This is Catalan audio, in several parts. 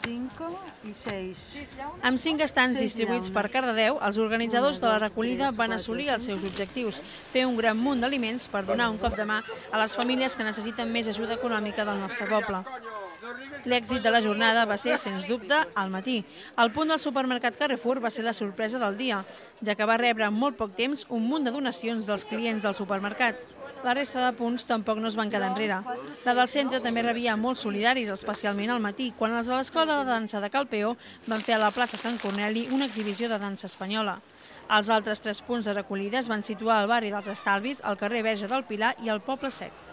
5 y 6. Amb 5 estants distribuïts per Cardedeu, els organitzadors de la recollida van assolir els seus objectius, fer un gran munt d'aliments per donar un cop de mà a les famílies que necessiten més ajuda econòmica del nostre poble. L'èxit de la jornada va ser, sens dubte, al matí. El punt del supermercat Carrefour va ser la sorpresa del dia, ja que va rebre en molt poc temps un munt de donacions dels clients del supermercat. La resta de punts tampoc no es van quedar enrere. La del centre també rebia molts solidaris, especialment al matí, quan els de l'Escola de Dansa de Calpeó van fer a la plaça Sant Corneli una exhibició de dansa espanyola. Els altres 3 punts de recollida es van situar al barri dels Estalvis, al carrer Verge del Pilar i al Poble Sec.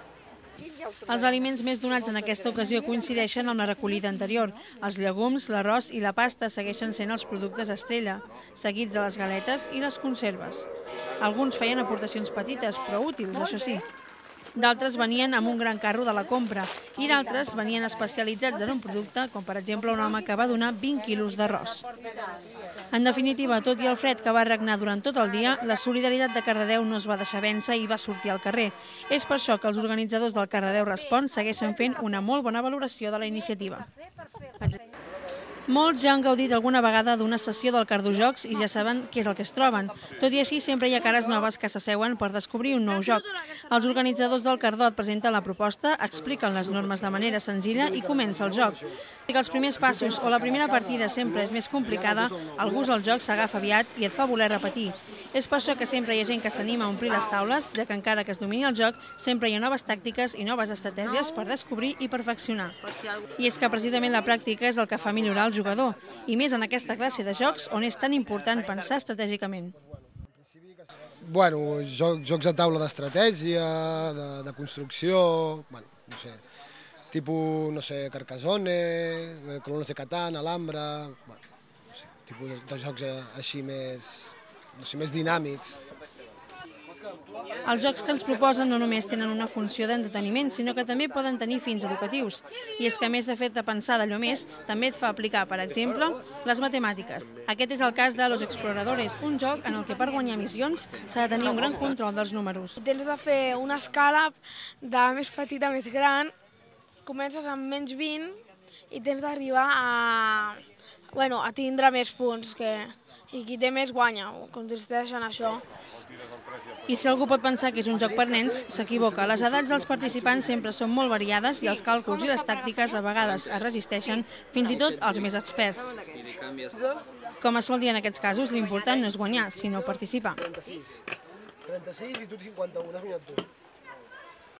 Els aliments més donats en aquesta ocasió coincideixen amb la recollida anterior. Els llegums, l'arròs i la pasta segueixen sent els productes estrella, seguits de les galetes i les conserves. Alguns feien aportacions petites, però útils, això sí. D'altres venien amb un gran carro de la compra i d'altres venien especialitzats en un producte, com per exemple un home que va donar 20 quilos d'arròs. En definitiva, tot i el fred que va regnar durant tot el dia, la solidaritat de Cardedeu no es va deixar vèncer i va sortir al carrer. És per això que els organitzadors del Cardedeu Respon segueixen fent una molt bona valoració de la iniciativa. Molts ja han gaudit alguna vegada d'una sessió del Cardojocs i ja saben què és el que es troben. Tot i així, sempre hi ha cares noves que s'asseuen per descobrir un nou joc. Els organitzadors del Cardó et presenten la proposta, expliquen les normes de manera senzilla i comença el joc. Si els primers passos o la primera partida sempre és més complicada, el gust al joc s'agafa aviat i et fa voler repetir. És per això que sempre hi ha gent que s'anima a omplir les taules, ja que encara que es domini el joc, sempre hi ha noves tàctiques i noves estratègies per descobrir i perfeccionar. I és que precisament la pràctica és el que fa millorar el jugador, i més en aquesta classe de jocs on és tan important pensar estratègicament. Bueno, jocs de taula d'estratègia, de construcció, bueno, no sé, tipus, no sé, Carcassonne, Colonos de Catán, Alhambra, bueno, no sé, tipus de jocs així més dinàmics. Els jocs que ens proposen no només tenen una funció d'entreteniment, sinó que també poden tenir fins educatius. I és que a més de fer-te pensar d'allò més, també et fa aplicar, per exemple, les matemàtiques. Aquest és el cas de Los Exploradores, un joc en el que per guanyar missions s'ha de tenir un gran control dels números. Tens de fer una escala de més petita a més gran, comences amb menys 20 i tens d'arribar a tindre més punts, i qui té més guanya, consisteix en això. I si algú pot pensar que és un joc per nens, s'equivoca. Les edats dels participants sempre són molt variades i els càlculs i les tàctiques a vegades es resisteixen, fins i tot als més experts. Com es sol dir en aquests casos, l'important no és guanyar, sinó participar. 36 i tu 51, has guanyat tu.